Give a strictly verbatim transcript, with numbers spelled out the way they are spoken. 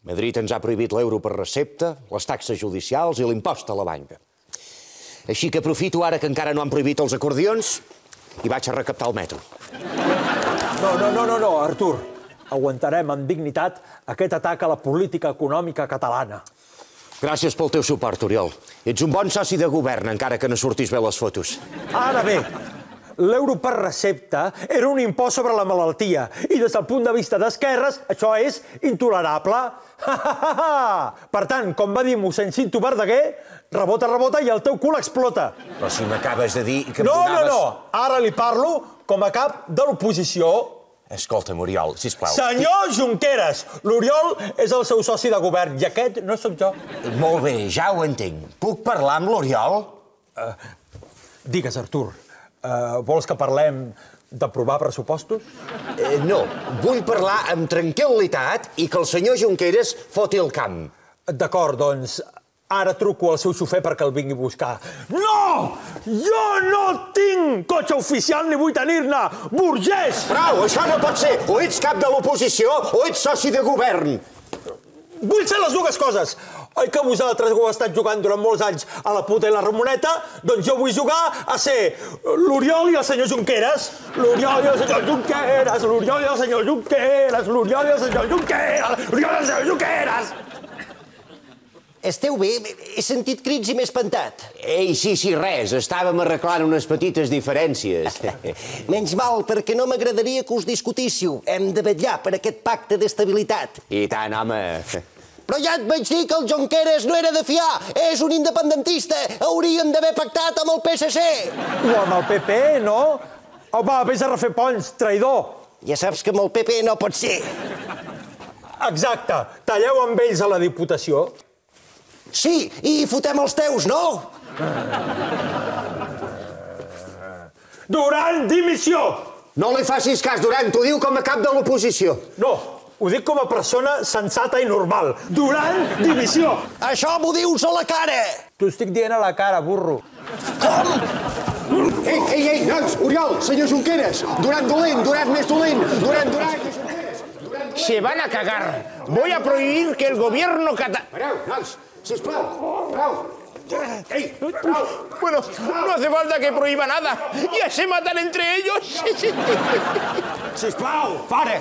Madrid ens ha prohibit l'euro per recepta, les taxes judicials i l'impost a la banca. Així que aprofito ara que encara no han prohibit els acordions i vaig a recaptar el metro. No, no, no, no, no, Artur. Aguantarem amb dignitat aquest atac a la política econòmica catalana. Gràcies pel teu suport, Oriol. Ets un bon soci de govern, encara que no surtis bé les fotos. Ara bé, l'euro per recepta era un impost sobre la malaltia i des del punt de vista d'esquerres això és intolerable. Per tant, com va dir mossèn Cinto Verdaguer, rebota, rebota i el teu cul explota. Però si m'acabes de dir que em no, donaves... No, no, no, ara li parlo com a cap de l'oposició. Escolta'm, Oriol, sisplau. Senyor Junqueras, l'Oriol és el seu soci de govern i aquest no sóc jo. Molt bé, ja ho entenc. Puc parlar amb l'Oriol? Uh, digues, Artur, uh, vols que parlem d'aprovar pressupostos? Eh, no, vull parlar amb tranquil·litat i que el senyor Junqueras foti el camp. D'acord, doncs, ara truco al seu xofer perquè el vingui a buscar. No! Jo no tinc cotxe oficial ni vull tenir-ne! Burgès! Prou, això no pot ser! O ets cap de l'oposició o ets soci de govern. Vull ser les dues coses. Oi que vosaltres ho heu estat jugant durant molts anys a la puta i la Ramoneta? Doncs jo vull jugar a ser l'Oriol i el senyor Junqueras. L'Oriol i el senyor Junqueras, l'Oriol i el senyor Junqueras, l'Oriol i el senyor Junqueras, l'Oriol i el senyor Junqueras. Esteu bé? He sentit crits i m'he espantat. Ei, sí, sí, res. Estàvem arreglant unes petites diferències. Menys mal, perquè no m'agradaria que us discutíssiu. Hem de vetllar per aquest pacte d'estabilitat. I tant, home. Però ja et vaig dir que el Junqueras no era de fiar. És un independentista. Hauríem d'haver pactat amb el P S C. O amb el P P, no? Home, vés a refer ponts, traïdor. Ja saps que amb el P P no pot ser. Exacte. Talleu amb ells a la Diputació. Sí, i fotem els teus, no? Duran, dimissió! No li facis cas, Duran, t'ho diu com a cap de l'oposició. No, ho dic com a persona sensata i normal. Duran, dimissió! Això m'ho dius a la cara! T'ho estic dient a la cara, burro. Com? Ei, ei, ei, nois, Oriol, senyor Junqueras, Duran dolent, Duran més dolent, Duran, Duran... Se van a cagar. Voy a prohibir que el gobierno catalán... Pareu, nois, sisplau, prou. Ei, prou. Bueno, no hace falta que prohíba nada. Ya se matan entre ellos. Sisplau, para.